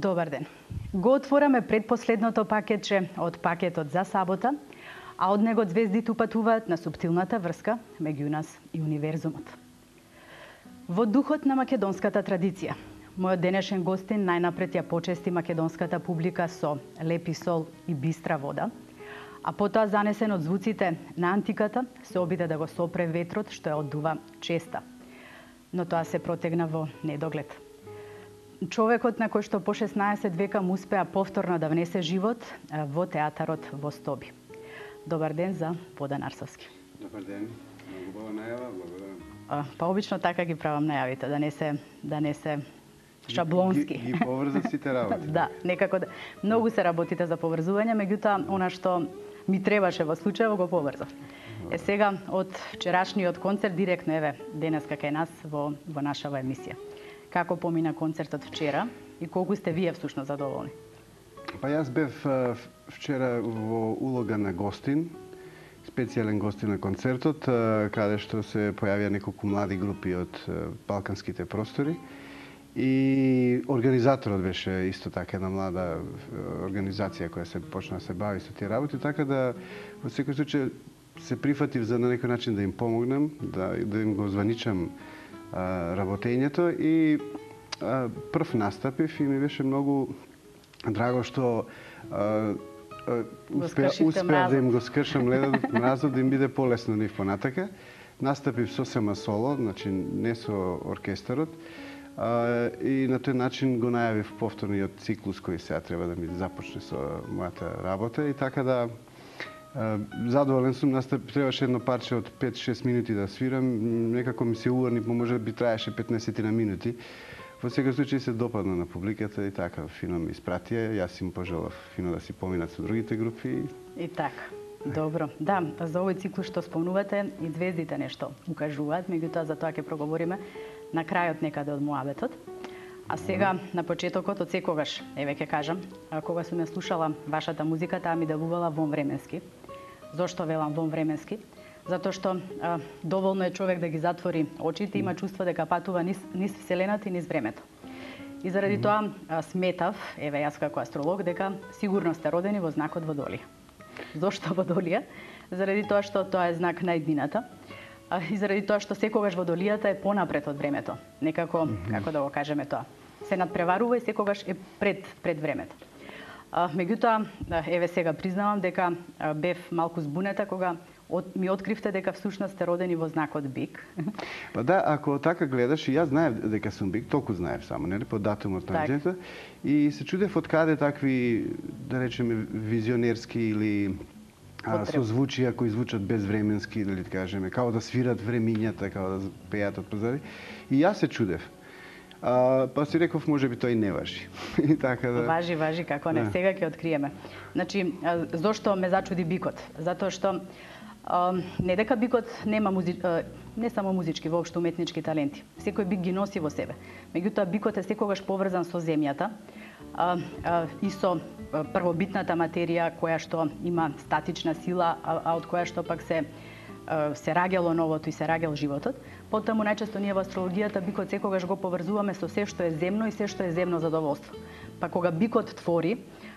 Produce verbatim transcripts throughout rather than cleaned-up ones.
Добар ден. Го отвораме предпоследното пакетче од пакетот за сабота, а од него звездите упатуваат на суптилната врска меѓу нас и универзумот. Во духот на македонската традиција, мојот денешен гостин најнапред ја почести македонската публика со лепи сол и бистра вода, а потоа занесен од звуците на антиката се обиде да го сопре ветрот што ја оддува честа. Но тоа се протегна во недоглед. Човекот на кој што по шеснаесет века му успеа повторно да внесе живот во театарот во Стоби. Добар ден за Водан Арсовски. Добар ден. Многу убава најава, благодарам. Па обично така ги правам најавите, да не се да не се шаблонски. Ги, ги поврзат сите работи. Да, некако да. Многу се работите за поврзување, меѓутоа она што ми требаше во случајот го поврзав. Е сега од вчерашниот концерт директно еве денеска кај нас во во нашава емисија. Како помина концертот вчера и колку сте вие всушност задоволни? Па јас бев вчера во улога на гостин, специјален гостин на концертот, каде што се појавија неколку млади групи од балканските простори. И организаторот беше исто така една млада организација која се почна да се бави со тие работи, така да во секој случај се прифатив за на некој начин да им помогнем, да, да им го званичам работењето и а, прв настапив и ми беше многу драго што а, а, успеа, успеа да им го скршам ледот, мразот, да им биде полесно нив понатака. Настапив сосема соло, значи не со оркестарот, а, и на тој начин го најавив повторниот циклус кој сега треба да ми започне со мојата работа и така да задоволен сум, настап требаше едно парче од пет-шест минути да свирам, некако ми се уорни, може би траеше петнаесет на минути. Во секој случај се допадна на публиката и така фино ми испратија, јас им пожелав фино да си поминат со другите групи. И така. Добро. Да, за овој циклус што спомнувате и звездите нешто укажуваат, меѓутоа за тоа ќе проговориме на крајот некаде од муабетот. А сега на почетокот од секогаш, еве ќе кажам, кога сум ја слушала вашата музика, таа ми делувала вонвременски. Зошто велам вонвременски? Затоа што а, доволно е човек да ги затвори очите, има чувство дека патува низ, низ вселената и низ времето. И заради тоа а, сметав, еве јас како астролог, дека сигурно сте родени во знакот Водолија. Зошто Водолија? Заради тоа што тоа е знак на еднината. А, и заради тоа што секогаш Водолијата е понапред од времето. Некако, како да го кажеме тоа, се надпреварува и секогаш е пред пред времето. А, меѓутоа, еве сега признавам дека а, бев малку збунета кога от, ми откривте дека всушност сте родени во знакот Бик. Па да, ако така гледаш, и јас знаев дека сум Бик, толку знаев само, нели, по датумот на роѓењето, и се чудев од каде такви, да речеме, визионерски или а, созвучија кои звучат безвременски, дали да кажеме, као да свират времињата, као да пеат од позади. И јас се чудев. А, па си реков, може би тој не важи. И така да... Важи, важи, како не, сега ќе откриеме. Значи, зошто ме зачуди бикот? Затоа што а, не дека бикот нема музи... а, не само музички, воопшто уметнички таленти. Секој бик ги носи во себе. Меѓутоа, бикот е секогаш поврзан со земјата а, а, и со првобитната материја која што има статична сила, а, а од која што пак се се раѓало новото и се раѓал животот. Потаму најчесто ние во астрологијата бикот секогаш го поврзуваме со се што е земно и се што е земно задоволство. Па кога бикот твори,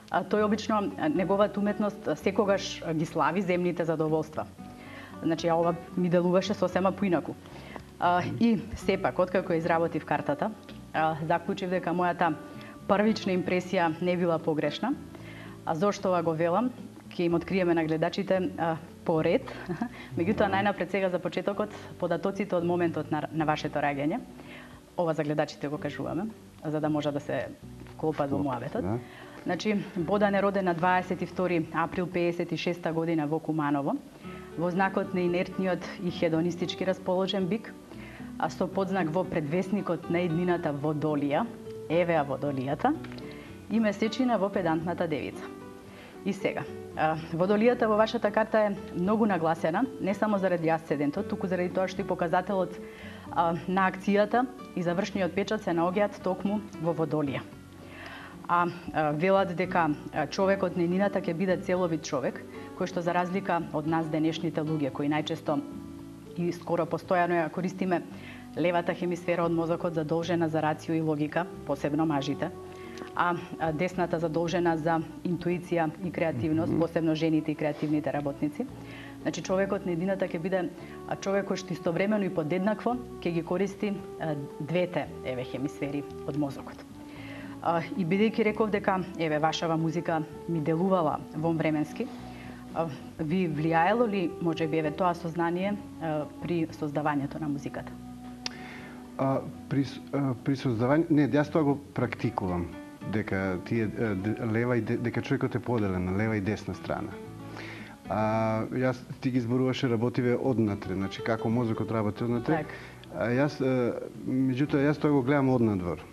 тој обично неговата уметност секогаш ги слави земните задоволства. Значи, ова ми делуваше сосема поинаку. И сепак, откако изработив картата, заклучив дека мојата првична импресија не била погрешна. А зошто ова го велам? Ќе им откриеме на гледачите по ред. Меѓутоа, најнапред сега за почетокот, податоците од моментот на, на вашето раѓање. Ова за гледачите го кажуваме, за да може да се вклопат во муабетот. Да. Значи, Бодан е роден на дваесет и втори април пеесет и шеста година во Куманово, во знакот на инертниот и хедонистички расположен бик, а со подзнак во предвесникот на еднината Водолија, евеа Водолијата, и месечина во педантната девица. И сега, Водолијата во вашата карта е многу нагласена, не само заради асцендентот, туку заради тоа што и показателот а, на акцијата и завршниот печат се наоѓаат токму во Водолија. А, а велат дека човекот на еднината ќе биде целовит човек, кој што за разлика од нас денешните луѓе, кои најчесто и скоро постојано ја користиме левата хемисфера од мозокот задолжена за рацио и логика, посебно мажите, а десната задолжена за интуиција и креативност, mm -hmm. посебно жените и креативните работници. Значи човекот на едината ќе биде човек кој што истовремено и подеднакво ќе ги користи двете еве хемисфери од мозокот. И бидејќи реков дека еве вашава музика ми делувала вонвременски, ви влијаело ли можеби еве тоа сознание при создавањето на музиката? А, при, а, при создавање, не, јас тоа го практикувам, дека тие лева и дека човекот е поделен на лева и десна страна. А, јас ти ги зборуваше работиве однатре, значи како мозокот работи однатре. Так. А, јас, меѓутоа, јас тоа го гледам однадвор.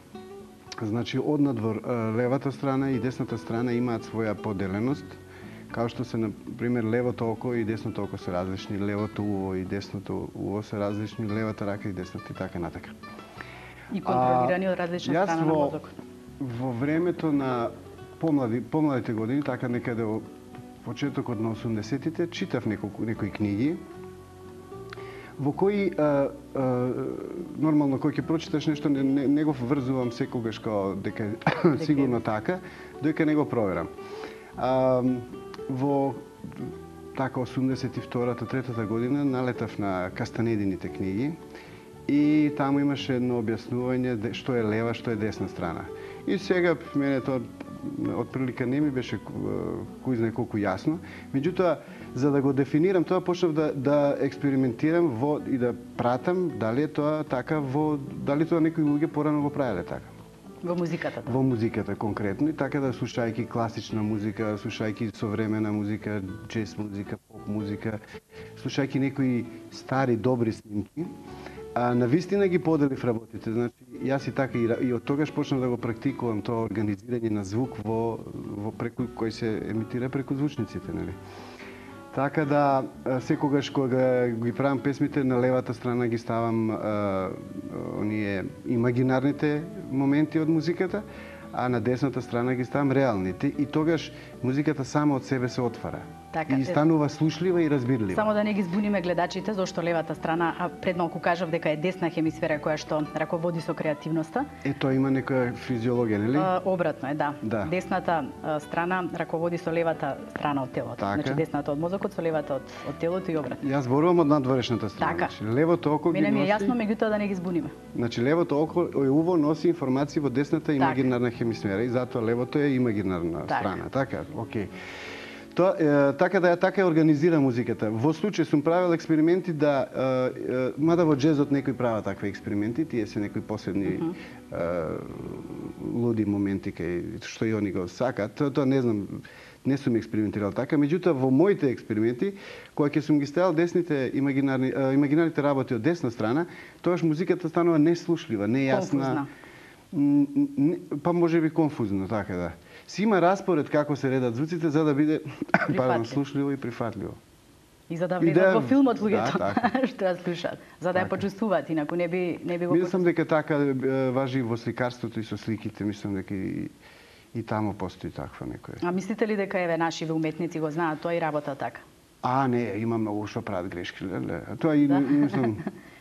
Значи, однадвор левата страна и десната страна имаат своја поделеност, као што се, на пример, левото око и десното око се различни, левото уво и десното уво се различни, левата рака и десната и така натака. И контролирани од различна страна на мозокот. Во времето на помлади, помладите години, така некаде во почетокот на осумдесетите, читав неколку, некои книги, во кои а, а, нормално кој ќе прочиташ нешто не, не, не го врзувам секогаш као дека сигурно така, доека не го проверам. А, во така осумдесет и втората, третата година налетав на Кастанедините книги и таму имаше едно објаснување што е лева, што е десна страна. И сега мене тоа од прилика не ми беше кој знае колку јасно. Меѓутоа, за да го дефинирам тоа, почнав да, да експериментирам во, и да пратам дали е тоа така во, дали тоа некои луѓе порано го правеле така. Во музиката? Да. Во музиката конкретно, и така да слушајќи класична музика, слушајќи современа музика, джез музика, поп музика, слушајќи некои стари добри снимки, а навистина ги поделив работите. Значи, јас и така и, и од тогаш почнав да го практикувам тоа организирање на звук во, во преку кој се емитира преку звучниците, нели? Така да, секогаш кога ги правам песмите, на левата страна ги ставам а, оние имагинарните моменти од музиката, а на десната страна ги ставам реалните. И тогаш музиката само од себе се отвара. Така, и станува слушлива и разбирлива. Само да не ги збуниме гледачите, зашто левата страна, а пред малку кажав дека е десна хемисфера која што раководи со креативноста. Е, тоа има некоја физиологија, нели? А, обратно е, да. да. Десната а, страна раководи со левата страна од телото. Така. Значи десната од мозокот со левата од, од телото и обратно. Јас зборувам од надворешната страна. Така. Значи, левото око Мене ги ми носи... е јасно, меѓутоа да не ги збуниме. Значи, левото око е уво носи информации во десната имагинарна хемисфера и затоа левото е имагинарна така. страна. Така, окей. Тоа, е, така да ја така ја организира музиката. Во случај сум правил експерименти да, е, е, мада во джезот некои прават такви експерименти, тие се некои посебни uh -huh. е, луди моменти кај што и они го сакат. Тоа, тоа не знам, не сум експериментирал така, меѓутоа во моите експерименти, кога ќе сум ги ставил десните имагинарни, е, имагинарните работи од десна страна, тоаш музиката станува неслушлива, нејасна. Па може би конфузно, така да. Си има распоред како се редат звуците за да биде пардон, слушливо и прифатливо. И за да влезат да... во филмот луѓето да, што ја слушаат, за да ја почувствуваат, инаку не би не би го. Мислам дека така важи во сликарството и со сликите, мислам дека и и таму постои таква некоја. А мислите ли дека еве нашиве уметници го знаат тоа и работа така? А не, има многу што прават грешки, леле. Тоа и, да? и мислам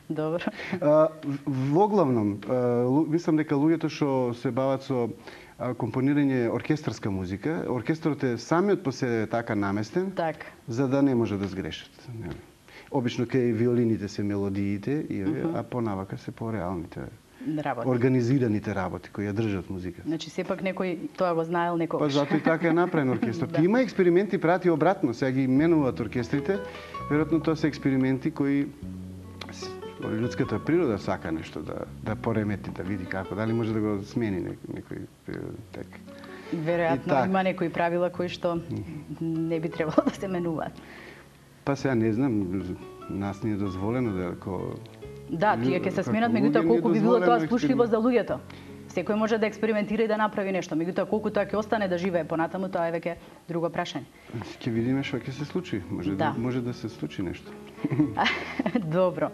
Добро. А, во главном, а, мислам дека луѓето што се бават со а, компонирање оркестарска музика, оркестрот е самиот по себе така наместен, так. За да не може да сгрешат. Обично кај виолините се мелодиите, и, uh -huh. а понавака се по-реалните работи. Организираните работи кои ја држат музиката. Значи сепак некој тоа го знаел некогаш. Па затоа и така е направен оркестрот. Да. Има експерименти прати обратно, сега ги менуваат оркестрите, веројатно тоа се експерименти кои луѓската природа сака нешто да да поремети, да види како, дали може да го смени некој тек. Веројатно так. Има некои правила кои што не би требало да се менуваат. Па сега не знам, нас не е дозволено да ако Да, тие ќе се сменат, меѓутоа колку би било тоа слушливо за луѓето. Секој може да експериментира и да направи нешто, меѓутоа колку тоа ќе остане да живее понатаму, тоа е веќе друго прашање. Ќе видиме што ќе се случи, може да, да може да се случи нешто. Добро.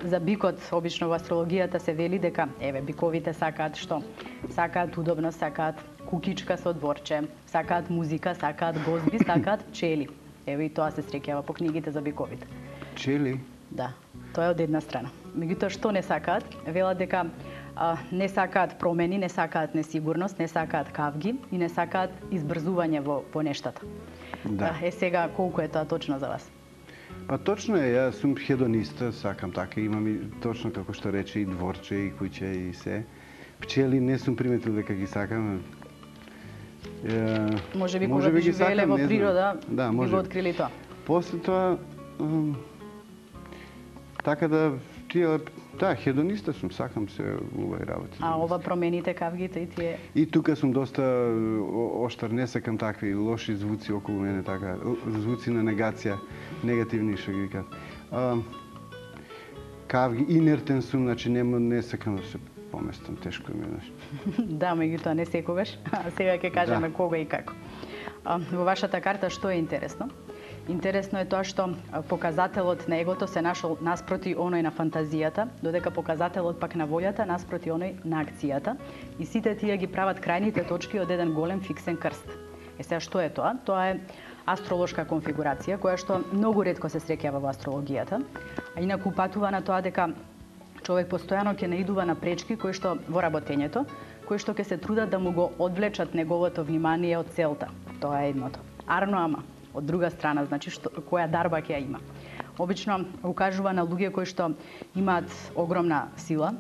За бикот обично во астрологијата се вели дека еве биковите сакаат што? Сакаат удобност, сакаат кукичка со дворче, сакаат музика, сакаат гозби, сакаат пчели. Еве и тоа се среќава по книгите за биковите. Пчели? Да, тоа е од една страна. Меѓутоа што не сакаат? Велат дека а, не сакаат промени, не сакаат несигурност, не сакаат кавги и не сакаат избрзување во, во нештата. Да. Е, сега, колку е тоа точно за вас? Па точно е, јас сум хедониста, сакам така, имам и точно како што рече и дворче, и куќе, и се. Пчели не сум приметил дека ги сакам. Е, може би кога би живееле во природа, да, би го открили тоа. После тоа, м, така да, тие, да, хедониста сум, сакам се убави работи. А ова промените кавгите и тие? И тука сум доста оштар, не сакам такви лоши звуци околу мене, така, звуци на негација, негативни што ги кажат. Кавги, инертен сум, значи не, не сакам да се поместам, тешко ми е. Да, меѓутоа не секогаш, а сега ќе кажеме да. Кога и како. Во вашата карта што е интересно? Интересно е тоа што показателот на егото се нашол наспроти оној на фантазијата, додека показателот пак на волјата наспроти оној на акцијата, и сите тие ги прават крајните точки од еден голем фиксен крст. Е сега што е тоа? Тоа е астролошка конфигурација која што многу ретко се среќава во астрологијата, а инаку упатува на тоа дека човек постојано ќе наидува на пречки кои што во работењето, кои што ќе се трудат да му го одвлечат неговото внимание од целта. Тоа е едното. Арно ама од друга страна, значи што која дарба ќе ја има. Обично укажува на луѓе кои што имаат огромна сила,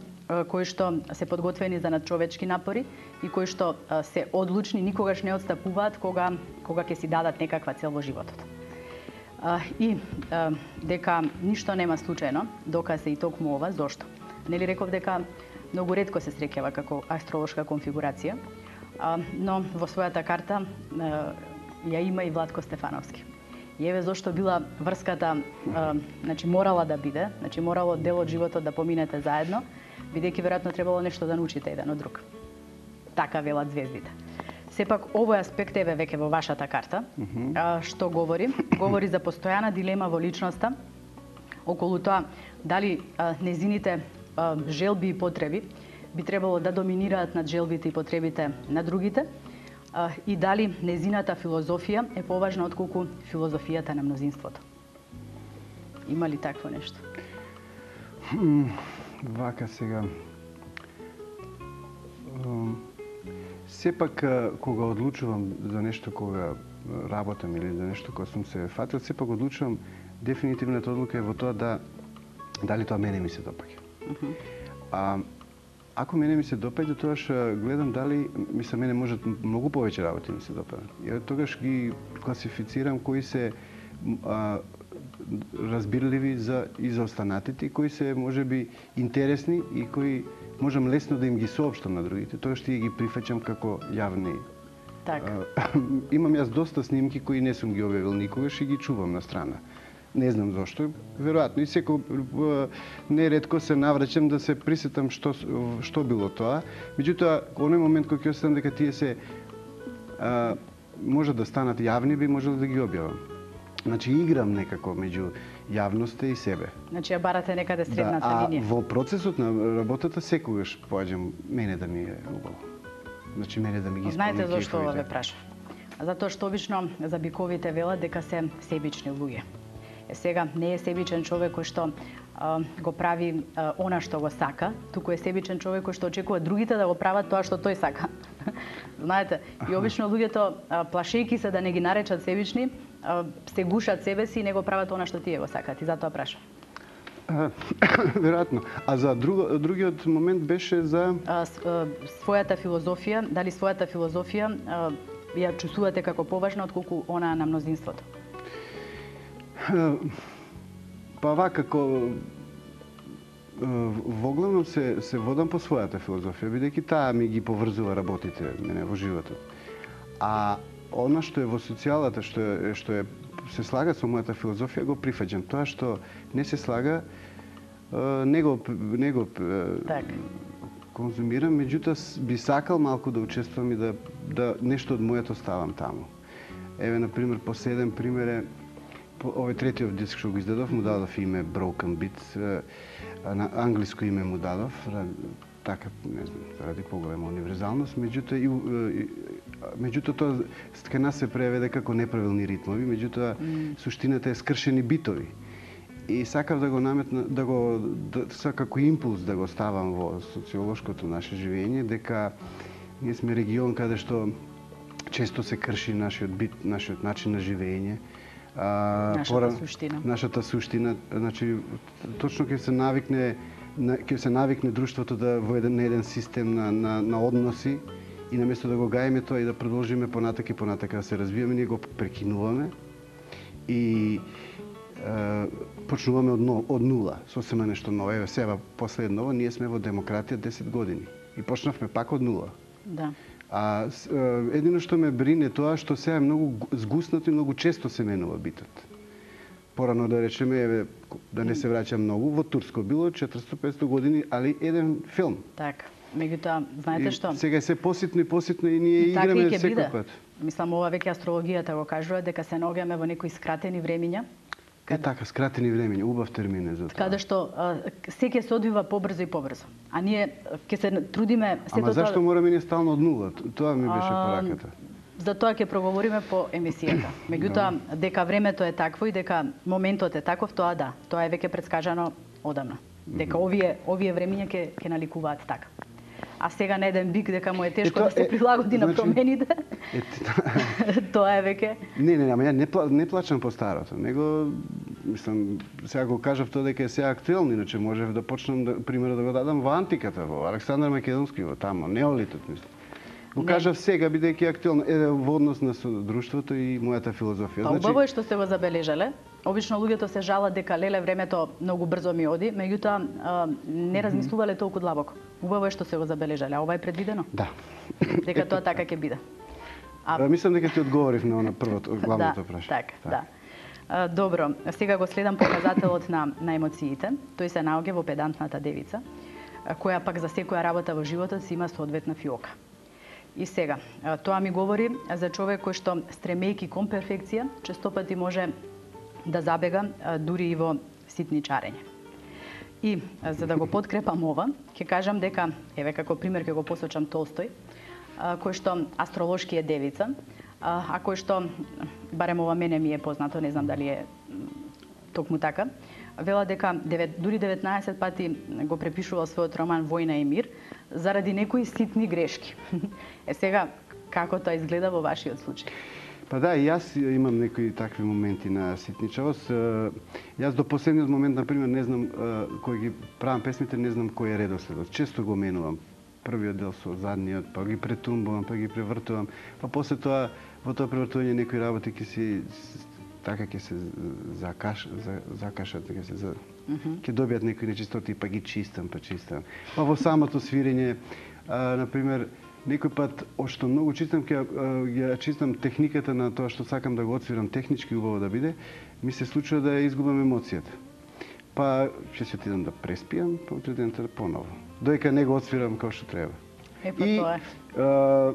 кои што се подготвени за надчовечки напори и кои што се одлучни, никогаш не отстапуваат кога кога ќе си дадат некаква цел во животот. И дека ништо нема случајно, доказ е и токму ова, зошто? Нели реков дека многу ретко се среќава како астролошка конфигурација, но во својата карта ја има и Владко Стефановски. И еве зошто била врската, значи морала да биде, значи морало дел од животот да поминете заедно, бидејќи веројатно требало нешто да научите еден од друг. Така велат звездите. Сепак овој аспект еве веќе во вашата карта, mm-hmm. што говори? Говори за постојана дилема во личноста околу тоа дали незините желби и потреби би требало да доминираат над желбите и потребите на другите, и дали незината филозофија е поважна отколку филозофијата на мнозинството. Има ли такво нешто? Вака сега. Сепак кога одлучувам за нешто кога работам или за нешто кога сум се фатил, сепак одлучувам дефинитивната одлука е во тоа да дали тоа мене ми се допаѓа. Uh-huh. А ако мене ми се допаѓа, тогаш гледам дали мисля мене можат многу повеќе работи ми се допаѓаат. И тогаш ги класифицирам кои се а, разбирливи за и за останатите, кои се можеби интересни и кои можам лесно да им ги соопштам на другите. Тоа што ги прифаќам како јавни. Така. Имам јас доста снимки кои не сум ги објавил никогаш и ги чувам на страна. Не знам зошто, веројатно и секој неретко се навраќам да се присетам што што било тоа. Меѓутоа, оној момент кога ќе оставам дека тие се а, може да станат јавни, би можел да ги објавам. Значи играм некако меѓу јавноста и себе. Значи ја барате некаде средната да, линија. А во процесот на работата секогаш поаѓам мене да ми е убаво. Значи мене да ми ги исполни. Знаете зошто ова ве прашав? Затоа што обично за биковите велат дека се себични луѓе. Е сега не е себичен човек кој што а, го прави а, она што го сака, туку е себичен човек кој што очекува другите да го прават тоа што тој сака. Знаете, и обично луѓето а, плашејки се да не ги наречат себични, а, се гушат себе си и не го прават она што тие го сакат, и затоа прашам. Веројатно. А за друго, другиот момент беше за а, с, а, својата филозофија, дали својата филозофија а, ја чувствувате како поважна отколку она на мнозинството? Па вака, како воглавно се се водам по својата филозофија, бидејќи таа ми ги поврзува работите мене во животот. А она што е во социјалата, што е што е се слага со мојата филозофија, го прифаќам. Тоа што не се слага, не го не го так. конзумирам, меѓутоа би сакал малку да учествувам и да да нешто од моето ставам таму. Еве на пример, последен пример е овој третиот диск што го издадов, му дадов име Broken Beat, на англиско име му дадов, така, не знам, заради поголема универзалност, меѓутоа и меѓутоа тоа кај нас се преведе како неправилни ритмови, меѓутоа mm. суштината е скршени битови. и сакав да го наметна, да го да, како импулс да го ставам во социолошкото наше живење, дека ние сме регион каде што често се крши нашиот бит, нашиот начин на живење. А, нашата пора, суштина. Нашата суштина, значи точно ќе се навикне ќе се навикне друштвото да во еден еден систем на на на односи и наместо да го гаеме тоа и да продолжиме понатака и понатака да се развиваме, ние го прекинуваме и е, почнуваме од, но, од нула, сосема нешто ново. Еве сега после едново ние сме во демократија десет години и почнавме пак од нула. Да. А едино што ме брине тоа што сега е многу згуснато и многу често се менува битот. Порано да речеме, еве, да не се враќам многу, во Турско било четиристотини до петстотини години, али еден филм. Така. Меѓутоа, знаете што? И сега е се поситно и поситно и ние и играме секој пат. Мислам, ова веќе астрологијата го кажува дека се наоѓаме во некои скратени времиња. Кад... Е така, скратени времиња, убав термин е за тоа. Каде што се ќе се одвива побрзо и побрзо. А ние ќе се трудиме сето тоа... Ама зашто тоа... мораме ние стално од нула? Тоа ми беше пораката. За тоа ќе проговориме по емисијата. Меѓутоа, дека времето е такво и дека моментот е таков, тоа да, тоа е веќе предскажано одамна. Дека овие овие времиња ќе ќе наликуваат така. А сега на еден бик дека му е тешко е, да се е, прилагоди на значи, промените. Е, тоа е веќе. Не, не, ама ја не, не плачам по старото, него мислам сега го кажав тоа дека е сега актуелно, иначе можев да почнам да пример да го дадам во антиката, во Александар Македонски, во тамо, неолитот мислам. Го кажав сега бидејќи актуелно е во однос на друштвото и мојата филозофија. Па убаво е што сте го забележале. Обично луѓето се жалат дека леле времето многу брзо ми оди, меѓутоа не размислувале толку длабоко. Убаво е што се го забележале, а ова е предвидено? Да. Дека тоа така ќе биде. А... Мислам дека ти одговорив на првото, главното прашање. Да, така, да. А, добро, сега го следам показателот на, на емоциите. Тој се наоѓа во педантната девица, која пак за секоја работа во животот си има соодветна фиока. И сега, тоа ми говори за човек кој што, стремејки кон перфекција, честопати може да забега дури и во ситничарење. И за да го подкрепам ова, ќе кажам дека, еве како пример ќе го посочам Толстој, кој што астролошки е девица, а кој што, барем ова мене ми е познато, не знам дали е токму така, вела дека дури деветнаесет пати го препишувал својот роман Војна и мир заради некои ситни грешки. Е сега, како тоа изгледа во вашиот случај? Па да, и јас имам некои такви моменти на ситничавост. Јас до последниот момент, например, не знам, кој ги правам песмите, не знам кој е редоследот. Често го менувам. Првиот дел со задниот, па ги претумбувам, па ги превртувам. Па после тоа, во тоа превртување некои работи ќе си така ќе се закаш, за, закашат, ќе се за, ќе добијат некои нечистоти, па ги чистам, па чистам. Па во самото свирење, а, например, некој пат, што многу чистам, ќе ја чистам техниката на тоа што сакам да го отсвирам технички убаво да биде, ми се случува да ја изгубам емоцијата. Па ќе се отидам да преспијам, па утре денот поново. Доека не го отсвирам како што треба. Е, па и, тоа е. А,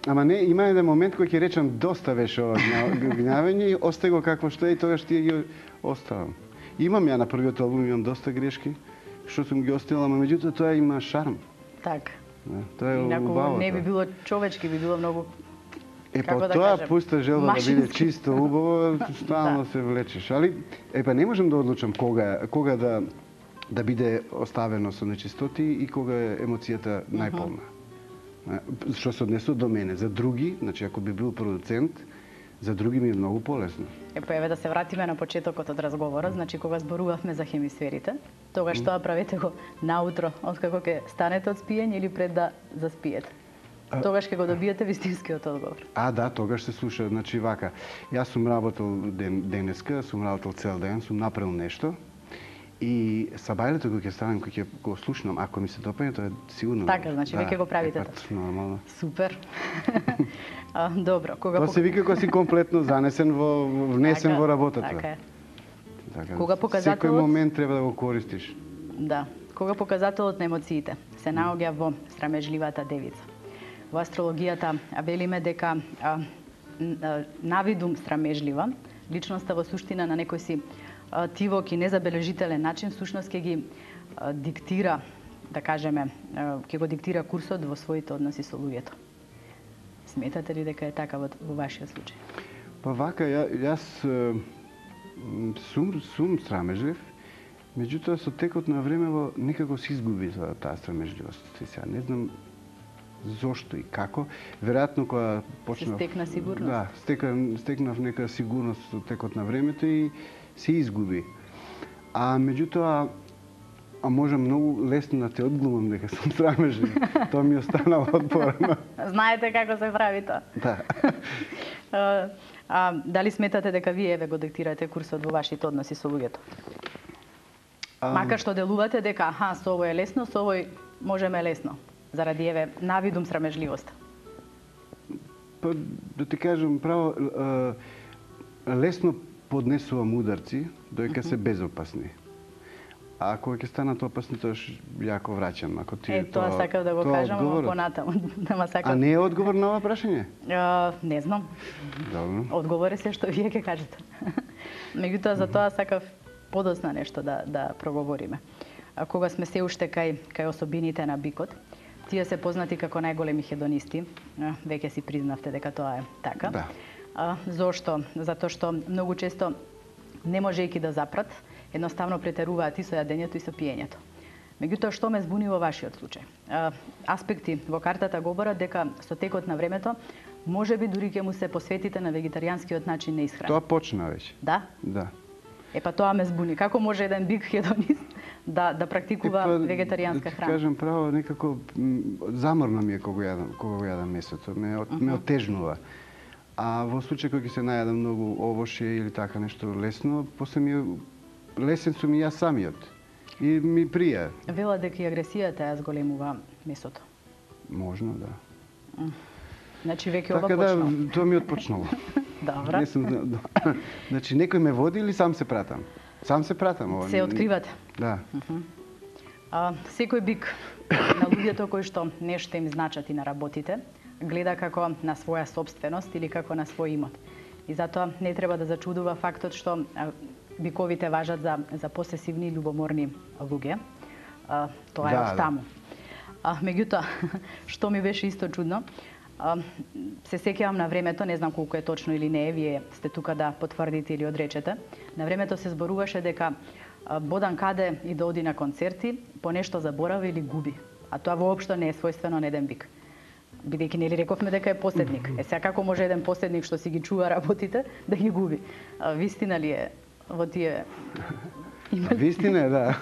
ама не, има еден момент кој ќе речам доста беше ова гневење и остай го какво што е и тогаш тие ги оставам. Имам ја на првиот албум имам доста грешки, што сум ги оставила, ама меѓутоа тоа има шарм. Така. Да, тоа е убаво. Не би било човечки, би било многу. Е, па да тоа кажем, пуста желба машински. Да биде чисто, убаво, стално да. Се влечеш. Али, е, па не можам да одлучам кога, кога да, да биде оставено со нечистоти и кога е емоцијата најполна. Uh -huh. Што се однесува до мене. За други, значи ако би бил продуцент, за други ми е многу полесно. Е, па еве да се вратиме на почетокот од разговорот, значи кога зборувавме за хемисферите, тогаш mm. тоа правете го наутро, откако ќе станете од спиење или пред да заспиете? А... Тогаш ќе го добиете вистинскиот одговор. А, да, тогаш се слуша, значи вака. Јас сум работел ден, денеска, сум работел цел ден, сум направил нешто. И сабајлето кога ќе станам, кога ќе го слушнам, ако ми се допаѓа, тоа е сигурно. Така, значи веќе го правите тоа. Нормално. Супер. а, добро, кога тоа се вика кога си комплетно занесен во внесен така, во работата. Така е. Така, кога показателот секој момент треба да го користиш. Да. Кога показателот на емоциите се наоѓа во срамежливата девица. Во астрологијата велиме дека а, навидум срамежлива, личноста во суштина на некој си тивок и незабележителен начин всушност ќе ги а, диктира, да кажеме, а, ќе го диктира курсот во своите односи со луѓето. Сметате ли дека е така во, во вашиот случај? Па вака, ја, јас сум, сум срамежлив Меѓутоа, со текот на времево некако се изгуби таа стремежливост. Сега не знам зошто и како. Веројатно кога почнав... Се стекна сигурност? Да, стека, стекнав нека сигурност со текот на времето и се изгуби. А меѓутоа, а може многу лесно да те одглумам дека сум срамежлив. Тоа ми останало отпорано. Знаете како се прави тоа? Да. а, а дали сметате дека вие еве го диктирате курсот во вашите односи со луѓето? А... Макар што делувате дека аха, со овој е лесно, со овој можеме лесно. Заради еве навидум срамежливост. Па да ти кажам право, лесно поднесувам ударци, доека се безопасни. А кога ќе станат опасни, тоа јако враќам. Ако ти е, тоа, тоа сакав да го кажам, ама понатаму. Сакав... А не е одговор на ова прашање? Uh, не знам. Добро. Одговор е се што вие ќе кажете. Меѓутоа, за тоа сакав подоцна нешто да, да проговориме. А кога сме се уште кај, кај особините на бикот, тие се познати како најголеми хедонисти. Веќе си признавте дека тоа е така. Да. А, зошто? Затоа што многу често, не можејќи да запрат, едноставно претеруваат и со јадењето и со пиењето. Меѓутоа, што ме збуни во вашиот случај? А, аспекти во картата говорат дека со текот на времето можеби дури ќе му се посветите на вегетаријанскиот начин на исхрана. Тоа почна веќе. Да? Да. Е па тоа ме збуни. Како може еден бик хедонист да да практикува е, па, вегетаријанска да храна? Да кажам право, некако заморно ми е кога јадам, кога го јадам месото, ме uh -huh. ме отежнува. А во случај кога ќе се најадам многу овошје или така нешто лесно, после ми е лесен сум и јас самиот. И ми прија. Вела дека и агресијата ја зголемува месото. Можно, да. Значи веќе така ова почнало. Така да, тоа ми отпочнало. Добра. Не сум, значи некој ме води или сам се пратам? Сам се пратам. Ова. Се откривате. Да. Uh -huh. А, секој бик на луѓето кои што нешто им значат и на работите, гледа како на своја собственост или како на свој имот. И затоа не треба да зачудува фактот што биковите важат за, за посесивни и љубоморни луѓе. А, тоа е да, од таму. А, меѓутоа, што ми беше исто чудно, а, се сеќавам на времето, не знам колку е точно или не е, вие сте тука да потврдите или одречете. На времето се зборуваше дека а, Бодан Каде и да оди на концерти, по нешто заборави или губи. А тоа воопшто не е својствено на еден бик. Бидејќи нели рековме дека е поседник. Е сега како може еден поседник што си ги чува работите да ги губи? А, вистина ли е во тие? Вистина е, да.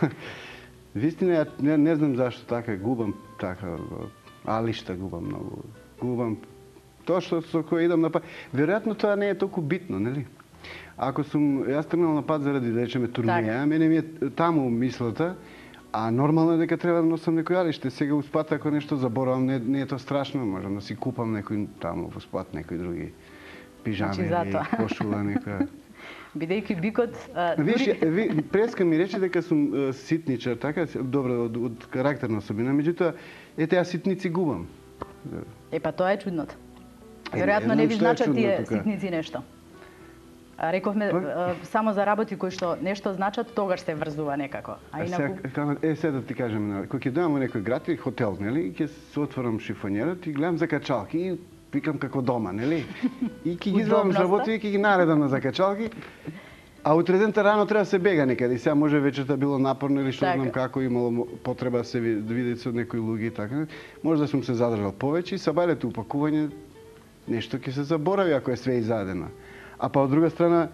Вистина е, не, не знам зашто така губам така, али што губам многу. Губам тоа што со кој идам на пат. Веројатно тоа не е толку битно, нели? Ако сум јас тргнал на пат заради да речеме турнеја, мене ми е таму мислата, а нормално е дека треба да носам некој алиште. Сега у спат ако нешто заборавам, не, не е тоа страшно, можам да си купам некој таму во спат, некој други пижами или кошула некоја. Бидејќи бикот... А, Виж, дури... ви, Преска ми рече дека сум а, ситничар, така, добро, од, од карактерна особина, меѓутоа, ете, ја ситници губам. Е, па тоа е чудното. Веројатно не ви значат тие ситници нешто. А, рековме, а, само за работи кои што нешто значат, тогаш се врзува некако. А инаку... Е, сега да ти кажем, кога ќе дојам во некој град или хотел, нели, ќе се отворам шифонерот и гледам закачалки и викам како дома, нели? И ќе ги извадам работи и ќе ги наредам на закачалки. А утре дента рано треба да се бега некаде. И сега може вечерта било напорно или што знам како, имало потреба да се види со некои луѓе и така. Може да сум се задржал повеќе и са бајлето упакување нешто ќе се заборави ако е све изадено. А па од друга страна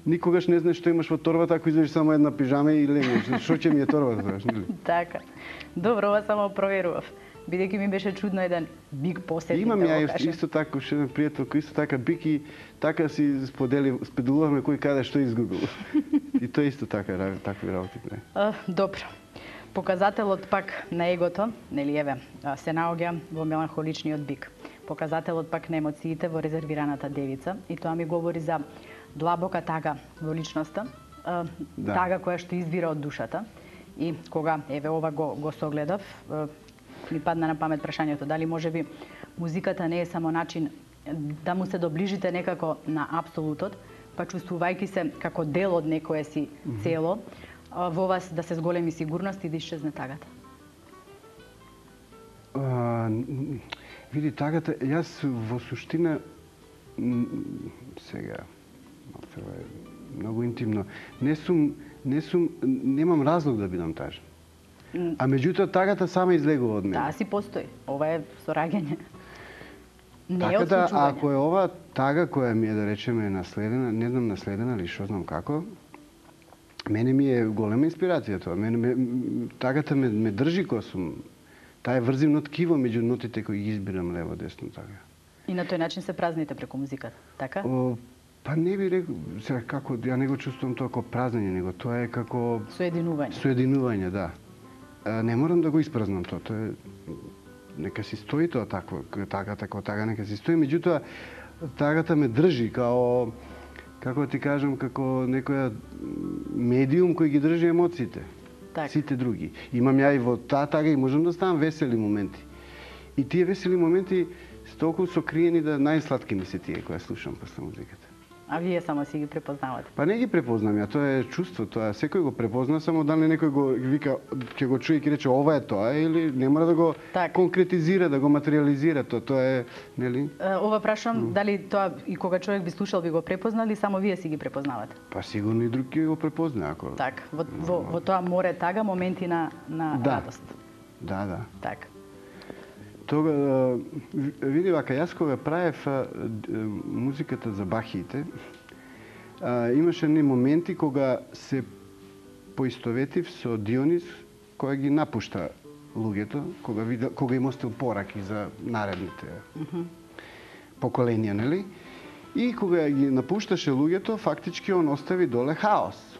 никогаш не знаеш што имаш во торбата ако излезеш само една пижама и легнеш. Што ќе ми е торбата, знаеш, нели? Така. Добро, ова само проверував. Бидејќи ми беше чудно еден бик посетник. Имам да ја исто, исто така уште еден пријател кој исто така бик и така си сподели, споделуваме кој каде што изгубил. И тоа исто така такви работи. Uh, добро. Показателот пак на егото, нели еве, се наоѓа во меланхоличниот бик. Показателот пак на емоциите во резервираната девица и тоа ми говори за длабока тага во личноста, uh, да. Тага која што извира од душата. И кога еве ова го го согледав, uh, ми падна на памет прашањето дали можеби музиката не е само начин да му се доближите некако на апсолутот, па чувствувајќи се како дел од некое си цело, во вас да се зголеми сигурност и да исчезне тагата. А, види, тагата, јас во суштина сега, многу интимно, не сум не сум, немам разлог да бидам тажен. А меѓутоа тагата сама излегува од мене. Таа си постои. Ова е сораѓање. Не е Така да, отслучување. ако е ова тага која ми е, да речеме, наследена, не знам наследена или што знам како, мене ми е голема инспирација тоа. Мене, ме, тагата ме, ме држи кога сум. Таа е врзивно ткиво меѓу нотите кои ги избирам лево десно тага. И на тој начин се празните преку музиката, така? О, па не би рекол, сега како, ја не го чувствувам тоа како празнење, него тоа е како... Соединување. Соединување, да. А, не морам да го испразнам тоа, тоа е... Нека си стои тоа такво, тагата како тага, нека си стои, меѓутоа тагата ме држи као, како ти кажам, како некоја медиум кој ги држи емоциите. Так. Сите други. Имам ја и во таа тага и можам да ставам весели моменти. И тие весели моменти се толку сокриени да најсладки ми се тие кои слушам после музиката. А вие само си ги препознавате? Па не ги препознам ја, тоа е чувство, тоа секој го препозна, само дали некој го вика, ќе го чуе и ќе рече ова е тоа или не мора да го так. конкретизира, да го материализира тоа, тоа е, нели? Ова прашам, mm. дали тоа и кога човек би слушал би го препознал или само вие си ги препознавате? Па сигурно и друг ќе го препозна ако. Так, во, во, во тоа море тага моменти на на да. радост. Да, да. Так. Тога, види вака, јас кога правев музиката за бахиите, имаше не моменти кога се поистоветив со Дионис, која ги напушта луѓето, кога, видел, кога им остил пораки за наредните mm -hmm. поколенија, нели? И кога ги напушташе луѓето, фактички он остави доле хаос.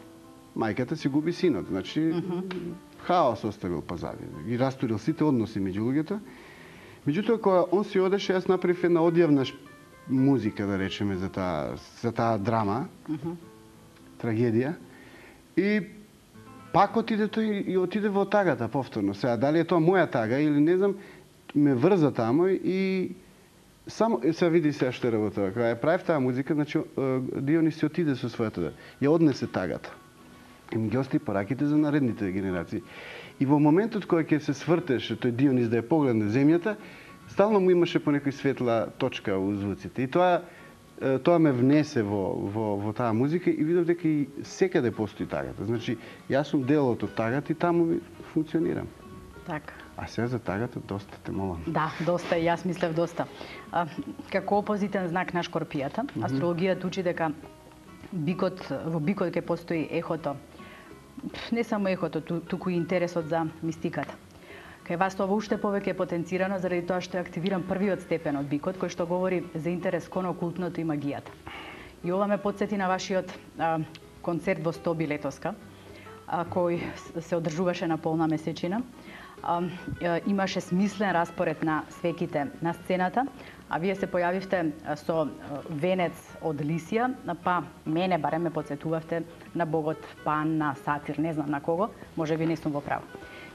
Мајката си губи синот, значи mm -hmm. хаос оставил позади. Ги растурил сите односи меѓу луѓето. Меѓутоа, кога он си одеше, јас направив една одјавна музика, да речеме, за таа, за таа драма, mm -hmm. трагедија. И пак отиде тој и отиде во тагата повторно. Сега, дали е тоа моја тага или не знам, ме врза тамо и само, сега види сега што е работа. Кога ја правив таа музика, значи Дионис си отиде со својата, ја однесе тагата. И ми ги остави пораките за наредните генерации. И во моментот кога ќе се свртеше тој Дионис да ја погледне земјата, стално му имаше по некој светла точка у звуците. И тоа тоа ме внесе во во во таа музика и видов дека и секаде постои тагата. Значи, јас сум делот од тагата и таму функционирам. Так. А сега за тагата доста те молам. Да, доста, и јас мислев доста. А, како опозитен знак на Шкорпијата, mm -hmm. астрологијата учи дека бикот, во бикот ќе постои ехото. Не само ехото, туку и интересот за мистиката. Кај вас тоа уште повеќе е потенцирано заради тоа што е активиран првиот степен од бикот, кој што говори за интерес кон окултното и магијата. И ова ме потсети на вашиот а, концерт во Стоби летоска, а, кој се одржуваше на полна месечина. А, а, имаше смислен распоред на свеките на сцената, а вие се појавивте со венец од лисија, па мене барем ме потсетувавте на богот Пан, на Сатир, не знам на кого, може би не сум во право.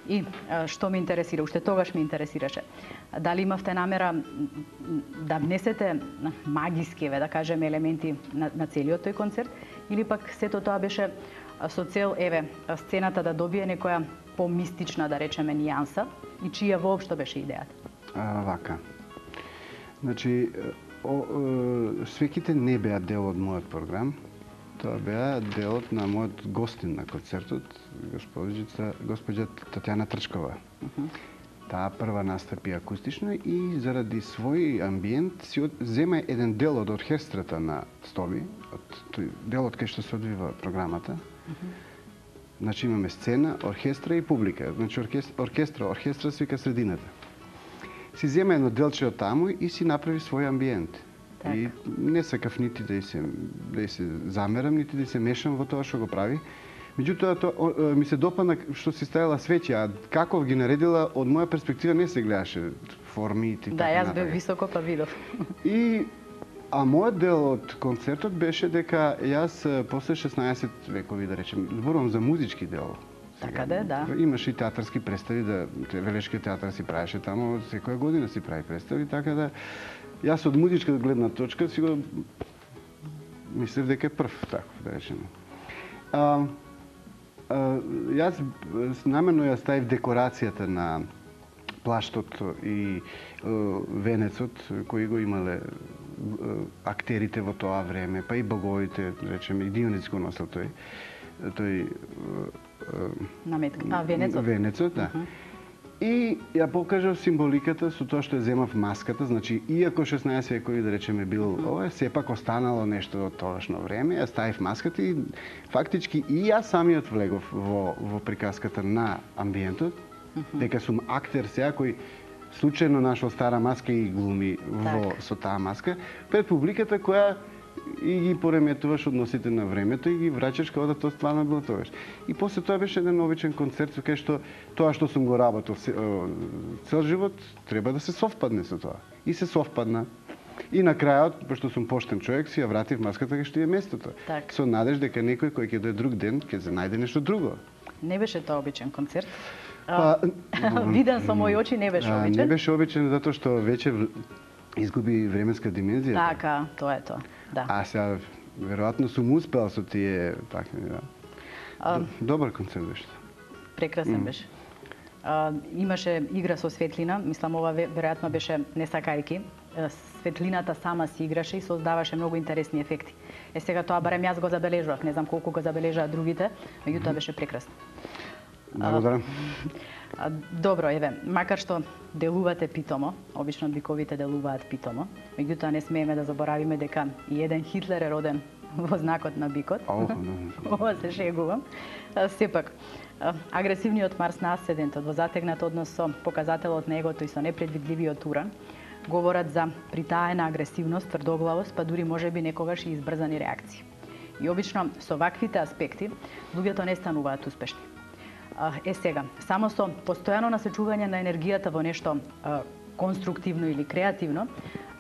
И што ме интересира, уште тогаш ме интересираше, дали имавте намера да внесете магиски, да кажеме, елементи на, на целиот тој концерт, или пак сето тоа беше со цел, еве, сцената да добие некоја помистична, да речеме, нијанса, и чија воопшто беше идејата? А, вака. Значи, о, о, свеките не беа дел од мојот програм. Тоа беа делот на мојот гостин на концертот, госпоđица, госпоđа Татјана Трчкова. Uh -huh. Таа прва настапи акустично и заради свој амбиент си зема еден дел од оркестрата на Стоби, од тој делот кај што се одвива програмата. Uh -huh. Значи имаме сцена, оркестра и публика. Значи оркестра, оркестра, оркестра се вика средината. Си зема едно делче од таму и си направи свој амбиент. Так. И не сакав нити да се да се замерам, нити да се мешам во тоа што го прави. Меѓутоа тоа ми се допадна што си ставила свеќи, а како ги наредила од моја перспектива не се гледаше форми и така. Да, јас бев високо па видов. И а мојот дел од концертот беше дека јас после шеснаесет векови, да речем, зборувам за музички дел. Така да, да. Имаше и театарски представи, да Велешкиот театар си правеше таму, секоја година си прави представи, така да јас од музичка гледна точка си го мислев дека е прв, така да речем. А, а, јас намерно ја ставив декорацијата на плаштот и а, венецот кои го имале а, актерите во тоа време, па и боговите, речеме, и Дионис го носел тој. тој наметка, а венецот. Венецот, да. Uh -huh. И ја покажав символиката со тоа што ја земав маската, значи иако шеснаесети векови да речеме бил uh -huh. ова, сепак останало нешто од тогашно време, ја ставив маската и фактички и јас самиот влегов во во приказката на амбиентот, uh -huh. дека сум актер сега кој случајно нашол стара маска и глуми во так. Со таа маска пред публиката која и ги пореметуваш односите на времето и ги враќаш како да тоа стварно било тогаш. И после тоа беше еден обичен концерт со кај што тоа што сум го работел цел живот треба да се совпадне со тоа. И се совпадна. И на крајот, пошто сум поштен човек, си ја вратив маската кај што е местото. Так. Со надеж дека некој кој ќе дое друг ден ќе се најде нешто друго. Не беше тоа обичен концерт. Па, виден со мои очи не беше обичен. Не беше обичен затоа што веќе изгуби временска димензија. Така, тоа е тоа. Да. А сега веројатно сум успел со тие такви, да. А, добар концерт беше. Прекрасен mm. беше. А, имаше игра со светлина, мислам ова веројатно беше не сакајки. Светлината сама си играше и создаваше многу интересни ефекти. Е сега тоа барем јас го забележував, не знам колку го забележаа другите, меѓутоа mm. беше прекрасно. Благодарам. Добро, еве, макар што делувате питомо, обично биковите делуваат питомо, меѓутоа не смееме да заборавиме дека и еден Хитлер е роден во знакот на бикот. Ова се шегувам. Сепак, агресивниот Марс на асцендентот во затегнат однос со показателот на егото и со непредвидливиот Уран говорат за притаена агресивност, тврдоглавост, па дури можеби некогаш и избрзани реакции. И обично со ваквите аспекти луѓето не стануваат успешни. Е сега, само со постојано насочување на енергијата во нешто а, конструктивно или креативно,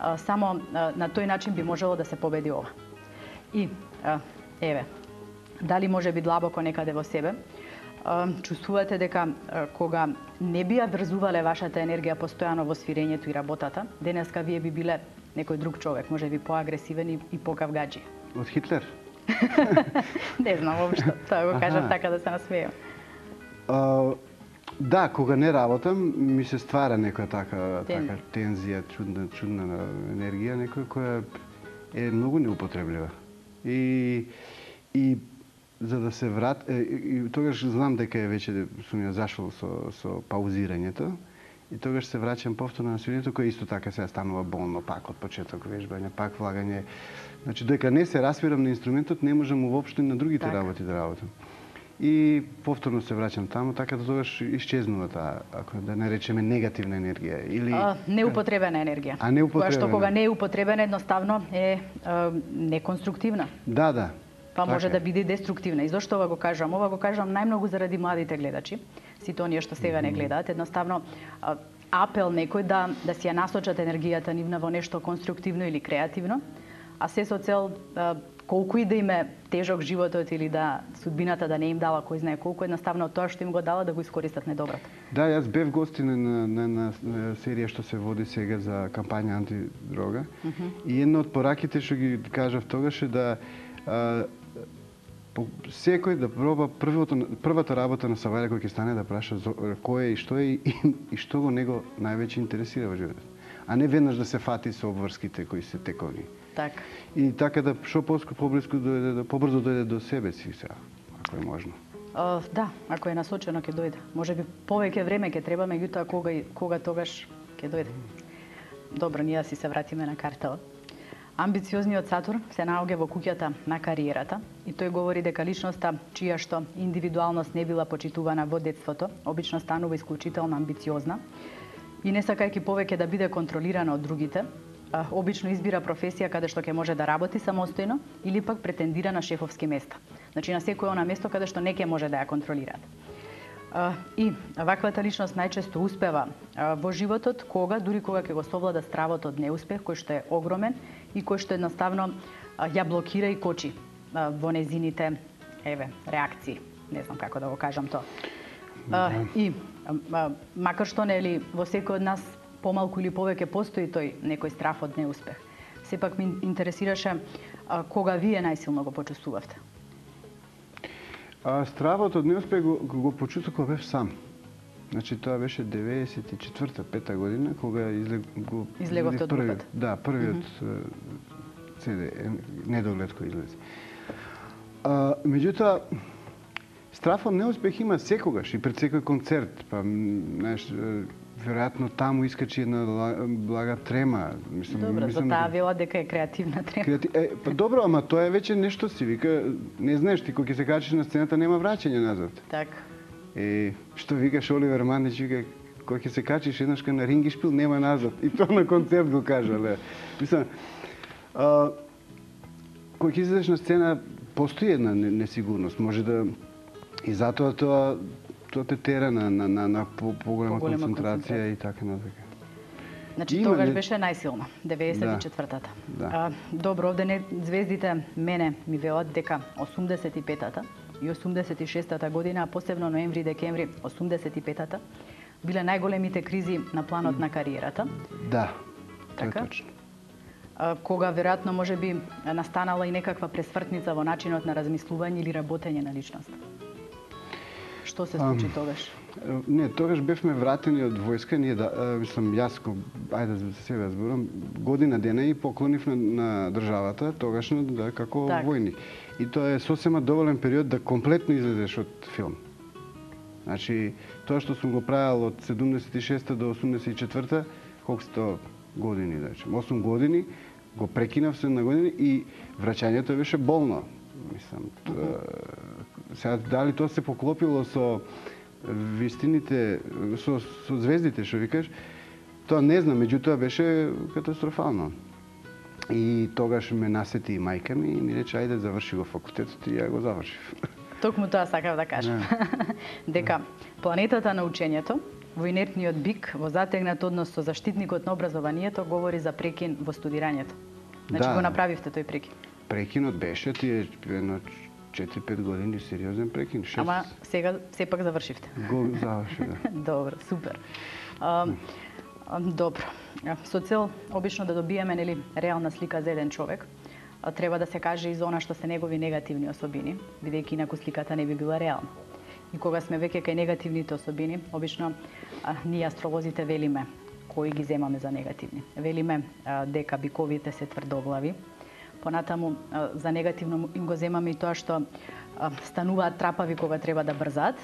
а, само а, на тој начин би можело да се победи ова. И, а, еве, дали може би длабоко некаде во себе, а, чувствувате дека а, кога не би ја врзувале вашата енергија постојано во свирењето и работата, денеска вие би биле некој друг човек, може би поагресивен и, и покавгаџи. Од Хитлер? Не знам воопшто, тоа го кажав така да се насмејам. Uh, да, кога не работам, ми се ствара некоја така, Тен. така тензија, чудна, чудна енергија, некоја која е многу неупотреблива. И, и за да се врат... И, и тогаш знам дека е веќе сум ја зашол со, со паузирањето и тогаш се враќам повторно на свирењето, кој исто така сега станува болно, пак од почеток вежбање, пак влагање. Значи, дека не се расвирам на инструментот, не можам воопшто и на другите так. работи да работам. И повторно се враќам таму, така да тогаш исчезнува таа, ако да не речеме негативна енергија или а, неупотребена енергија. А неупотребена. Која што кога не е употребена едноставно е а, неконструктивна. Да, да. Па може така да биде деструктивна. И зошто ова го кажам? Ова го кажам најмногу заради младите гледачи, сите оние што сега не гледаат, едноставно а, апел некој да да си ја насочат енергијата нивна во нешто конструктивно или креативно, а се со цел а, колку и да им е тежок животот или да судбината да не им дала кој знае колку, едноставно тоа што им го дала да го искористат недоброто. Да, јас бев гостин на, на, на, на серија што се води сега за кампања антидрога. Uh -huh. И една од пораките што ги кажав тогаш е да а, по, секој да проба првото, првата работа на Савајле кој ќе стане да праша кој е и што е и, и што го него највеќе интересира во животот. А не веднаш да се фати со обврските кои се тековни. Така. И така да што поблиску дојде, да побрзо дојде до себе си сега, ако е можно. Uh, да, ако е насочено ќе дојде. Може би повеќе време ќе треба, меѓутоа кога кога тогаш ќе дојде. Добро, ние си се вратиме на картава. Амбициозниот Сатурн се наоѓа во куќата на кариерата и тој говори дека личноста чија што индивидуалност не била почитувана во детството, обично станува исклучително амбициозна и не сакајќи повеќе да биде контролирана од другите, обично избира професија каде што ќе може да работи самостојно или пак претендира на шефовски места. Значи на секој она место каде што не ќе може да ја контролираат. И ваквата личност најчесто успева во животот кога, дури кога ќе го совлада стравот од неуспех, кој што е огромен и кој што едноставно ја блокира и кочи во незините, еве, реакции. Не знам како да го кажам тоа. И макар што нели во секој од нас помалку или повеќе постои тој некој страв од неуспех. Сепак ми интересираше а, кога вие најсилно го почувствувавте? А, стравот од неуспех го, го почувствував кога бев сам. Значи тоа беше деветдесет и четврта пета година кога излег, го излеговте од групата. Да, првиот mm -hmm. си ди недоглед кој излезе. А, меѓутоа Страф од неуспех има секогаш и пред секој концерт. Па, знаеш, веројатно таму искачи една блага трема. Добро, за таа вела дека е креативна трема. Креати... Е, па добро, ама тоа е веќе нешто си. Вика, не знаеш ти, кога ќе се качиш на сцената, нема враќање назад. Така. Е, што викаш Оливер Мандич, вика, кога ќе се качиш еднаш на рингишпил, нема назад. И тоа на концерт го кажа, ле. Мислам, а, кога ќе излезеш на сцена, постои една несигурност. Може да... И затоа тоа тоа те тера на, на, на, на поголема по концентрација и така натака. Значи, Има, тогаш не... беше најсилна, деветдесет и четвртата. Да. А, добро, овде не звездите мене ми велат дека осумдесет и петата и осумдесет и шестата година, а посебно ноември-декември осумдесет и петата, биле најголемите кризи на планот на кариерата. Да, така? Тоа е точно. А, кога веројатно може би настанала и некаква пресвртница во начинот на размислување или работење на личност. Што се случи um, тогаш? Не, тогаш бевме вратени од војска, ние да, а, мислам, јас, ајде за себе зборам, година дена и поклонив на, на државата, тогашно да, како так. војник. И тоа е сосема доволен период да комплетно излезеш од филм. Значи, тоа што сум го правил од седумдесет и шеста до осумдесет и четврта, колку сто години, да речем, осум години, го прекинав се на години и враќањето беше болно. Мислам, тоа, сега дали тоа се поклопило со вистините, со, со звездите, што викаш, тоа не знам, меѓутоа беше катастрофално. И тогаш ме насети и мајка ми и ми рече, ајде заврши го факултетот и ја го завршив. Токму тоа сакав да кажам. Дека планетата на учењето, во инертниот бик, во затегнат однос со заштитникот на образованието, говори за прекин во студирањето. Значи да. го направивте тој прекин. Прекинот беше тие едно четири-пет години сериозен прекин, шест. Ама сега сепак завршивте. Го завршив, да. Добро, супер. А, а, добро. Со цел обично да добиеме нели реална слика за еден човек, а, треба да се каже и за она што се негови негативни особини, бидејќи инаку сликата не би била реална. И кога сме веќе кај негативните особини, обично а, ние астролозите велиме кои ги земаме за негативни. Велиме а, дека биковите се тврдоглави. Понатаму а, за негативно им го земаме и тоа што а, стануваат трапави кога треба да брзаат.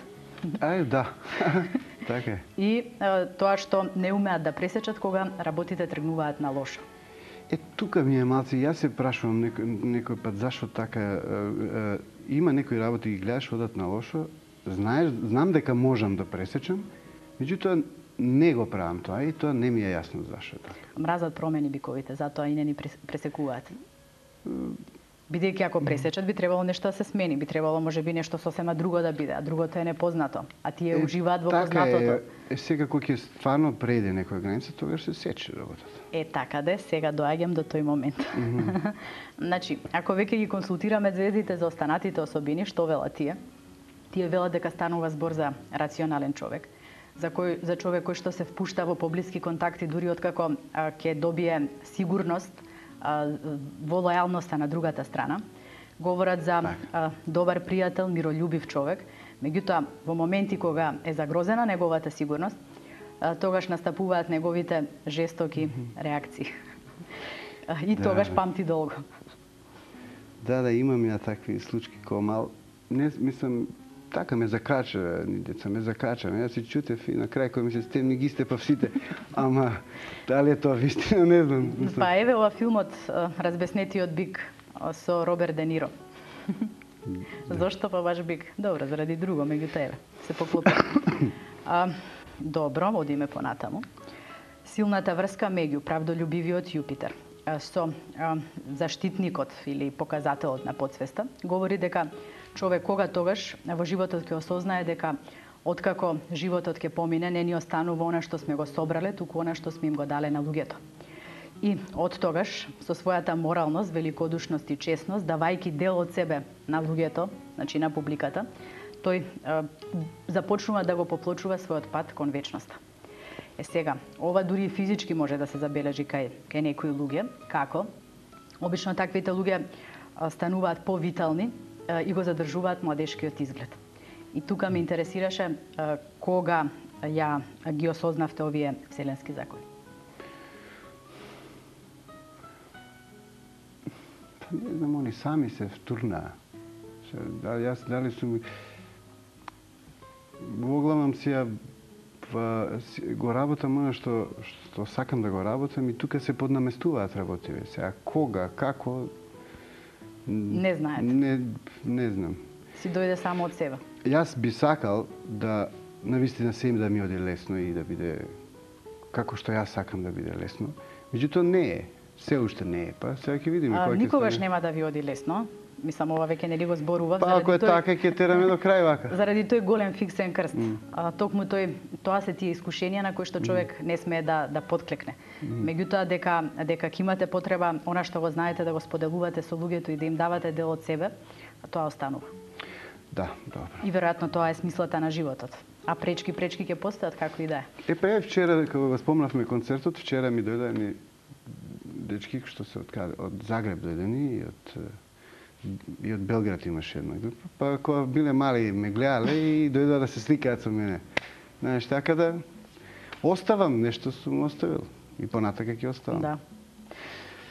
Ај, да. Така е. И а, тоа што не умеат да пресечат кога работите тргнуваат на лошо. Е, тука ми е малце, јас се прашувам некој, некој пат зашто така, е, е, има некои работи ги гледаш одат на лошо, знаеш, знам дека можам да пресечам, меѓутоа не го правам тоа и тоа не ми е јасно зашто така. Мразат промени биковите, затоа и не ни пресекуваат. Бидејќи ако пресечат, би требало нешто да се смени, би требало можеби нешто сосема друго да биде, а другото е непознато, а тие е, уживаат во така познатото. Е, е, сега кога ќе стварно преде некоја граница, тогаш се сече работата. Е, така де, сега доаѓам до тој момент. Mm -hmm. Значи, ако веќе ги консултираме звездите за останатите особини, што велат тие? Тие велат дека станува збор за рационален човек, за кој за човек кој што се впушта во поблиски контакти дури откако а, ќе добие сигурност а, во лојалноста на другата страна. Говорат за а, добар пријател, мирољубив човек, меѓутоа во моменти кога е загрозена неговата сигурност, а, тогаш настапуваат неговите жестоки реакции. И да. Тогаш памти долго. Да, да, имам ја такви случаи кој мал. Не, мислам, така ме закача, ни деца ме закача. Јас си чутев и на крај кој ми се стемни ги степав сите. Ама дали е тоа вистина, не знам. Мислам. Па еве ова филмот Разбеснетиот бик со Роберт Де Ниро. Да. Зошто па баш бик? Добро, заради друго, меѓутоа еве се поклопи. А, добро, одиме понатаму. Силната врска меѓу правдолюбивиот Јупитер со а, заштитникот или показателот на подсвеста говори дека човек кога тогаш во животот ќе осознае дека откако животот ќе помине не ни останува она што сме го собрале, туку она што сме им го дале на луѓето. И од тогаш со својата моралност, великодушност и честност, давајќи дел од себе на луѓето, значи на публиката, тој а, започнува да го поплочува својот пат кон вечноста. Е сега, ова дури и физички може да се забележи кај, кај некои луѓе, како обично таквите луѓе стануваат повитални и го задржуваат младешкиот изглед. И тука ме интересираше кога ја ги осознавте овие вселенски закони. Па не знам, они сами се втурнаа. Дали јас дали сум Во главном си ја го работам она што, што сакам да го работам и тука се поднаместуваат работиве. Сега кога, како... Не знаете. Не, не знам. Си дојде само од себе. Јас би сакал да навистина се им да ми оди лесно и да биде како што јас сакам да биде лесно. Меѓутоа не е. Се уште не е. Па сега ќе видиме А, кој ќе никогаш стане. нема да ви оди лесно. Мислам, ова веќе нели го зборував. Па ако е тој- така, ќе тераме до крај вака. Заради тој голем фиксен крст. А, токму тој, тоа се тие искушенија на кои што човек не смее да да подклекне. Меѓутоа дека дека ќе имате потреба она што го знаете да го споделувате со луѓето и да им давате дел од себе, тоа останува. Да, добро. И веројатно тоа е смислата на животот. А пречки пречки ќе постојат како и да е. Е, па е вчера, кога го спомнавме концертот, вчера ми дојде ни дечки што се од каде, од Загреб дојдени и од и од Белград имаше една група. Па кога биле мали ме гледале и дојдоа да се сликаат со мене. Знаеш, така да оставам нешто сум оставил и понатака ќе оставам. Да.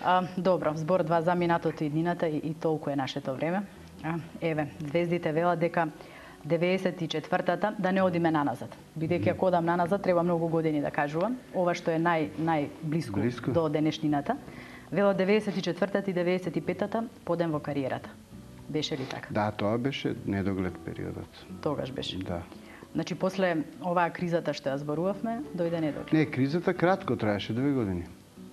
А, добро, збор два за минатото и днината и, и толку е нашето време. А, еве, звездите велат дека деветдесет и четвртата да не одиме наназад. Бидејќи ако одам наназад треба многу години да кажувам. Ова што е нај најблиску Блиску. до денешнината. Велат деветдесет и четвртата и деветдесет и петата подем во кариерата. Беше ли така? Да, тоа беше недоглед периодот. Тогаш беше. Да. Значи после оваа кризата што ја зборувавме, дојде недоглед. Не, кризата кратко траеше, две години.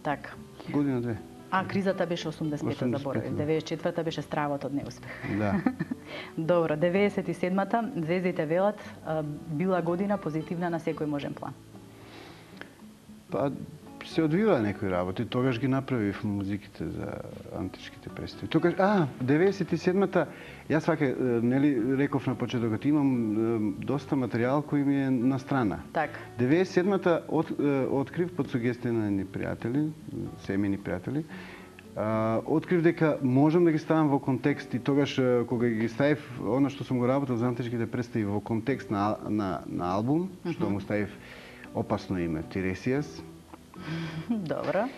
Така. Година две. А кризата беше осумдесет и пета осумдесет и пета, заборавив. да. деветдесет и четвртата беше стравот од неуспех. Да. Добро, деветдесет и седмата звездите велат а, била година позитивна на секој можен план. Па се одвива некои работи, тогаш ги направив музиките за античките представи. Тогаш, а, деветдесет и седмата, јас вака, е, нели реков на почетокот, имам е, доста материјал кој ми е на страна. Така. деветдесет и седмата от, е, открив под сугестија на едни пријатели, семени пријатели, а, открив дека можам да ги ставам во контекст и тогаш е, кога ги ставив она што сум го работил за античките представи во контекст на на, на албум, што му ставив опасно име Тиресијас. Добро.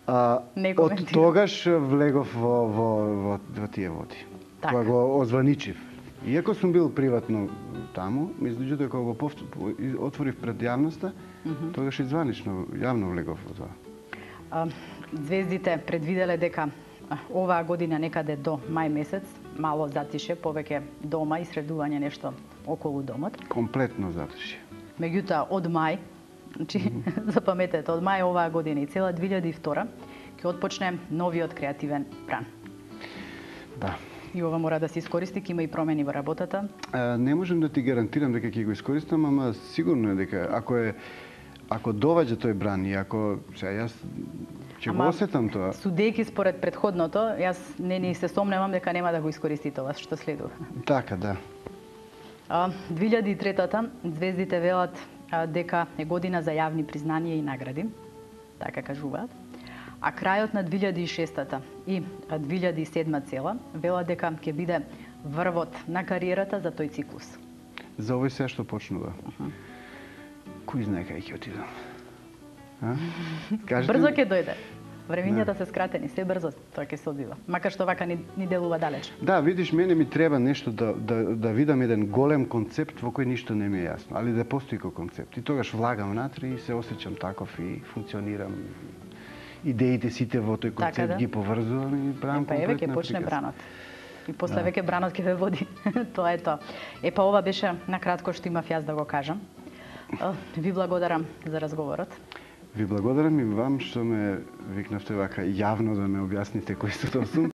А, Не од коментирам. тогаш влегов во, во, во, во тие води. Така. Кога го озваничив. Иако сум бил приватно таму, меѓутоа кога го повт... отворив пред јавноста, тогаш и званично, јавно влегов во тоа. А, звездите предвиделе дека а, оваа година некаде до мај месец мало затише, повеќе дома и средување нешто околу домот. Комплетно затишје. Меѓутоа од мај, значи запаметете, од мај оваа година и цела две илјади и втора ќе отпочне новиот креативен бран. Да. И ова мора да се искористи, ќе има и промени во работата. А, не можам да ти гарантирам дека ќе го искористам, ама сигурно е дека ако е ако доваѓа тој бран и ако сега јас ќе го Ама, осетам тоа. Судејќи според предходното, јас не ни се сомневам дека нема да го искористи тоа што следува. Така, да. А, две илјади и третата звездите велат а, дека е година за јавни признанија и награди, така кажуваат. А крајот на две илјади и шестата и а, две илјади и седма цела велат дека ќе биде врвот на кариерата за тој циклус. За овој се што почнува. Кој знае кај ќе отидам? А? Кажете Брзо ми? ќе дојде. Времињата се скратени, се брзо тоа ќе се одвива. Макар што вака ни, ни делува далеч. Да, видиш, мене ми треба нешто да, да, да видам еден голем концепт во кој ништо не ми е јасно, али да постои кој концепт. И тогаш влагам внатре и се осеќам таков и функционирам. Идеите сите во тој концепт Така да. ги поврзувам и правам Епа еве ќе комплетна почне апликација. бранот. И после Да. веќе бранот ќе ве води. Тоа е тоа. Епа ова беше на кратко што имав јас да го кажам. Е, Ви благодарам за разговорот. Ви благодарам и вам што ме викнавте вака јавно да ме објасните кој сум.